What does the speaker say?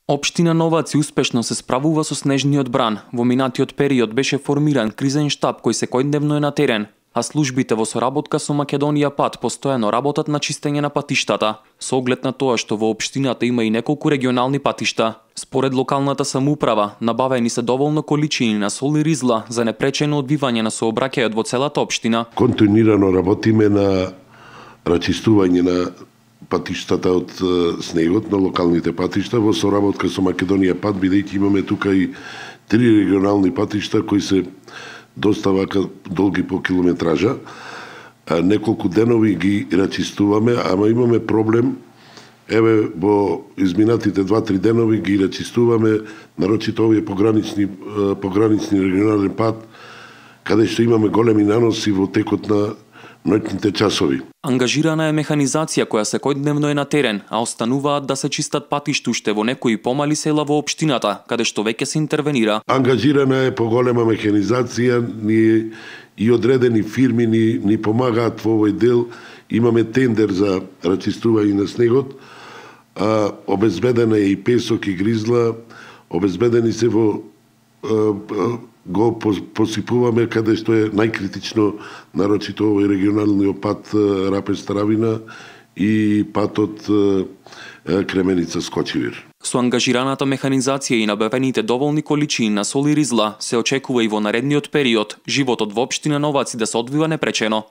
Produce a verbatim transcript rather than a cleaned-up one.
Општина Новаци успешно се справува со снежниот бран. Во минатиот период беше формиран кризен штаб кој секојдневно е на терен, а службите во соработка со Македонија Пат постојано работат на чистење на патиштата, со оглед на тоа што во општината има и неколку регионални патишта. Според локалната самоуправа, набавени се доволно количини на сол и ризла за непречено одвивање на сообраќајот во целата општина. Континуирано работиме на рачистување на патиштата од снегот, на локалните патишта во соработка со Македонија Пат, бидејќи имаме тука и три регионални патишта кои се доста вака долги по километража. Неколку денови ги рачистуваме, ама имаме проблем. Еве, во изминатите два-три денови ги рачистуваме, нарочито овие погранични, погранични регионален пат, каде што имаме големи наноси во текот на ноќните часови. Ангажирана е механизација која секојдневно е на терен, а остануваат да се чистат патишта уште во некои помали села во општината, каде што веќе се интервенира. Ангажирана е поголема механизација, ни и одредени фирми ни, ни помагаат во овој дел. Имаме тендер за рачистување на снегот, а, обезбедена е и песок и гризла, обезбедени се во а, а, го посипуваме каде што е најкритично, нарочито овој регионалниот пат Рапец-Таравина и патот Кременица Скочивир. Со ангажираната механизација и набавените доволни количини на сол и ризла се очекува и во наредниот период животот во општина Новаци да се одвива непречено.